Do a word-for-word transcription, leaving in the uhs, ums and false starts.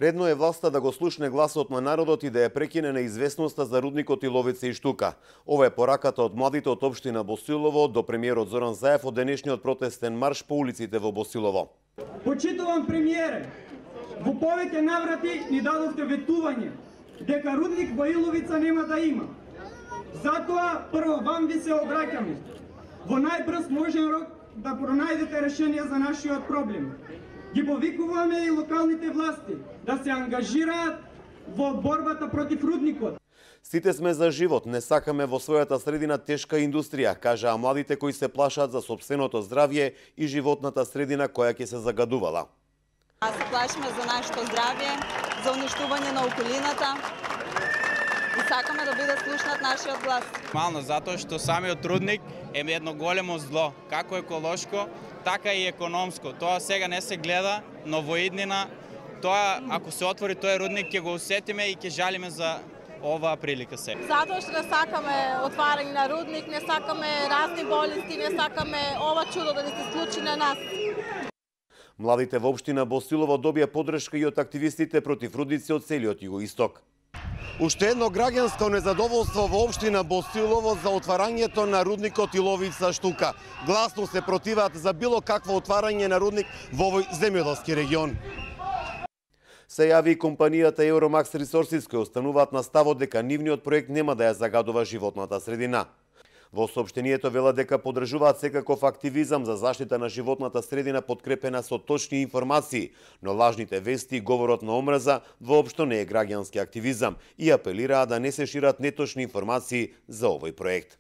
Редно е власта да го слушне гласот на народот и да ја прекине неизвестноста за рудникот Иловица и Штука. Ова е пораката од младите од општина Босилово до премиерот Зоран Заев од денешниот протестен марш по улиците во Босилово. Почитувам премиере, во повеќе наврати ни дадовте ветување дека рудник во Иловица нема да има. Затоа прво вам ви се обраќаме во најбрз можен рок да пронајдете решение за нашиот проблем. Ги повикуваме и локалните власти да се ангажираат во борбата против рудникот. Сите сме за живот, не сакаме во својата средина тешка индустрија, кажаа младите кои се плашат за сопственото здравје и животната средина која ќе се загадувала. Аз се плашиме за нашето здравје, за уништување на околината и сакаме да биде слушнат нашиот глас. Мално затоа што самиот рудник е едно големо зло, како еколошко, така и економско. Тоа сега не се гледа, но во иднина тоа ако се отвори тој рудник ќе го усетиме и ќе жалиме за оваа прилика се. Затоа што не сакаме отварање на рудник, не сакаме разни болести, не сакаме ова чудо да се случи на нас. Младите во општина Босилово добија поддршка и од активистите против рудници од целиот југоисток. Уште едно граѓанско незадоволство во општина Босилово за отварањето на рудникот Иловица Штука. Гласно се противат за било какво отварање на рудник во овој земјоделски регион. Се јави и компанијата Euromax Resources кои остануваат на ставот дека нивниот проект нема да ја загадува животната средина. Во соопштението велат дека поддржуваат секаков активизам за заштита на животната средина подкрепена со точни информации, но лажните вести и говорот на омраза воопшто не е граѓански активизам и апелираат да не се шират неточни информации за овој проект.